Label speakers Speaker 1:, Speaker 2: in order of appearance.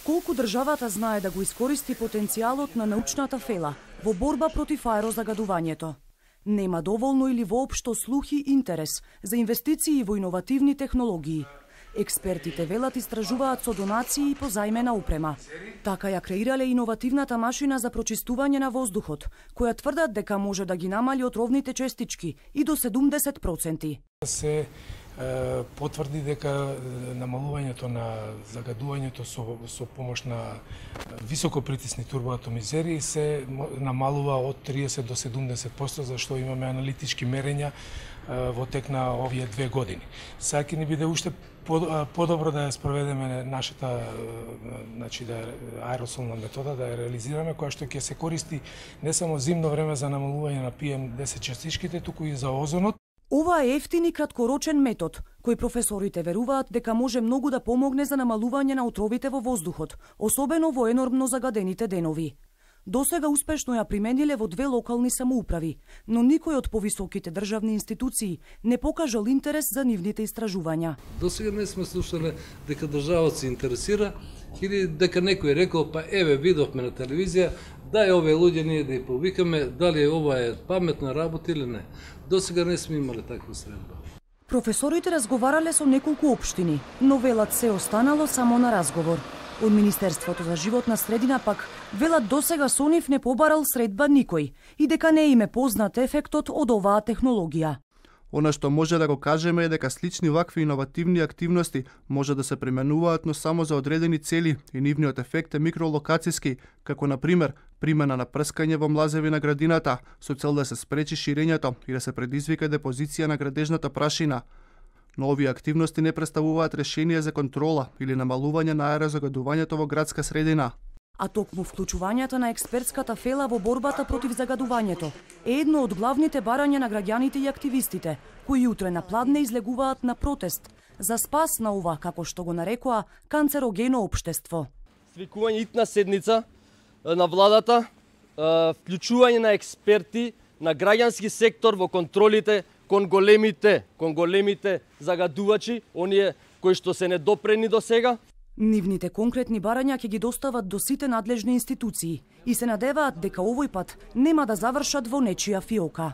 Speaker 1: Колку државата знае да го искористи потенцијалот на научната фела во борба против аерозагадувањето? Нема доволно или воопшто слух и интерес за инвестиции во иновативни технологии. Експертите велат истражуваат со донации и позајмена опрема. Така ја креирале иновативната машина за прочистување на воздухот, која тврдат дека може да ги намали отровните честички и до 70%.
Speaker 2: Се потврди дека намалувањето на загадувањето со помош на високопритисни турбоатомизери се намалува од 30 до 70%, зашто имаме аналитички мерења во тек на овие 2 години. Сега ќе ни биде уште подобро да ја спроведеме нашата аеросолна метода, да ја реализираме, која што ќе се користи не само зимно време за намалување на PM10 частичките, туку и за озонот.
Speaker 1: Ова е ефтин и краткорочен метод, кој професорите веруваат дека може многу да помогне за намалување на отровите во воздухот, особено во енормно загадените денови. Досега успешно ја примениле во 2 локални самоуправи, но никој од повисоките државни институции не покажал интерес за нивните истражувања.
Speaker 3: Досега не сме слушале дека државата се интересира или дека некој рекол, па еве видовме на телевизија, дај овие луѓе ние да ја повикаме, дали ова е паметна работа или не. Досега не сме имале таква средба.
Speaker 1: Професорите разговарале со неколку општини, но велат се останало само на разговор. Од Министерството за животна средина пак велат досега со нив не побарал средба никој и дека не им е познат ефектот од оваа технологија.
Speaker 4: Она што може да го кажеме е дека слични вакви иновативни активности може да се применуваат, но само за одредени цели и нивниот ефект е микролокацијски, како на пример примена на прскање во млазеви на градината со цел да се спречи ширењето и да се предизвика депозиција на градежната прашина. Но овие активности не представуваат решение за контрола или намалување на аерозагадувањето во градска средина.
Speaker 1: А токму вклучувањето на експертската фела во борбата против загадувањето е едно од главните барања на граѓаните и активистите, кои утре на Пладне излегуваат на протест за спас на ова, како што го нарекоа, канцерогено општество.
Speaker 5: Свикување итна седница на владата, вклучување на експерти, на граѓански сектор во контролите кон големите загадувачи, оние кои што се недопрени до сега.
Speaker 1: Нивните конкретни барања ќе ги достават до сите надлежни институции и се надеваат дека овој пат нема да завршат во нечија фиока.